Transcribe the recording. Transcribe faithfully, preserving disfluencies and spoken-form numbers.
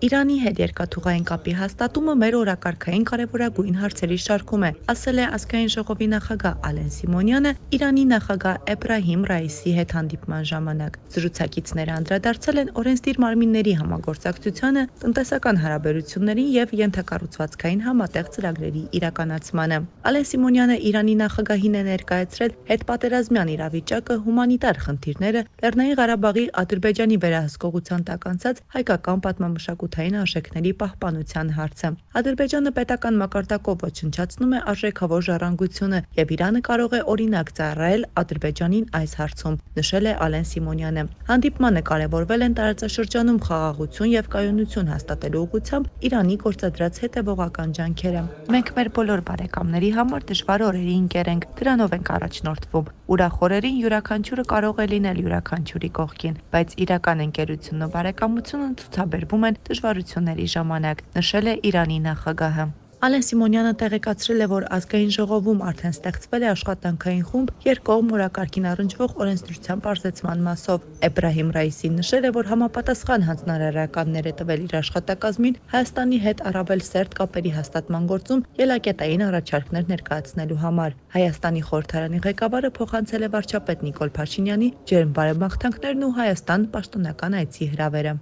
Իրանի հետ երկաթուղային կապի հաստատումը մեր օրակարգային կարևորագույն հարցերի շարքում է, ասել է ազգային ժողովի նախագահ Ալեն Սիմոնյանը Իրանի նախագահ Էբրահիմ Ռայիսի հետ հանդիպման ժամանակ։ Զրուցակիցները անդրադարձել են օրենսդիր մարմինների համագործակցությանը, տնտեսական հարաբերություններին եւ ենթակառուցվածքային համատեղ ծրագրերի իրականացմանը։ Ալեն Սիմոնյանը Իրանի նախագահին է ներկայացրել հետպատերազմյան իրավիճակը, հումանիտար խնդիրները, Լեռնային Ղարաբաղի Ադրբեջանի վերահսկողության տակ անցած հայկական պատմամշակութային արժեքների պահպանության հարցը։ Ադրբեջանը պետական մակարդակով ոչնչացնում է արժեքավոր ժառանգությունը եւ Իրանը կարող է օրինակ ծառայել Ադրբեջանին այս հարցում, նշել է Ալեն Սիմոնյանը։ Հանդիպմանը կարևորվել են տարածաշրջանում խաղաղություն եւ կայունություն հաստատելու ուղղությամբ Իրանի գործադրած հետեւողական ջանքերը։ Մենք մեր բոլոր բարեկամների համար դժվար օրերի ընկեր ենք, դրանով ենք առաջնորդվում։ Ուրախ օրերին յուրաքանչյուրը կարող է լինել յուրաքանչյուրի կողքին, բայց իրական ընկերությունն ու բարեկամությունը ցուցաբերվում են դժվարությունների ժամանակ, նշել է Իրանի նախագահը։ Ալեն Սիմոնյանը տեղեկացրել է, որ ազգային ժողովում արդեն ստեղծվել է աշխատանքային խումբ երկկողմ օրակարգին առնչվող օրենսդրության պարզեցման մասով։ Էբրահիմ Ռայիսին նշել է, որ համապատասխան հանձնարարականներ է տվել իր աշխատակազմին Հայաստանի հետ առավել սերտ կապերի հաստատման գործում ելակետային առաջարկներ ներկայացնելու համար։ Հայաստանի խորհրդարանի ղեկավարը փոխանցել է վարչապետ Նիկոլ Փաշինյանի ջերմ բարեբախտանքներն ու Հայաստան պաշտոնական այցի հրավերը։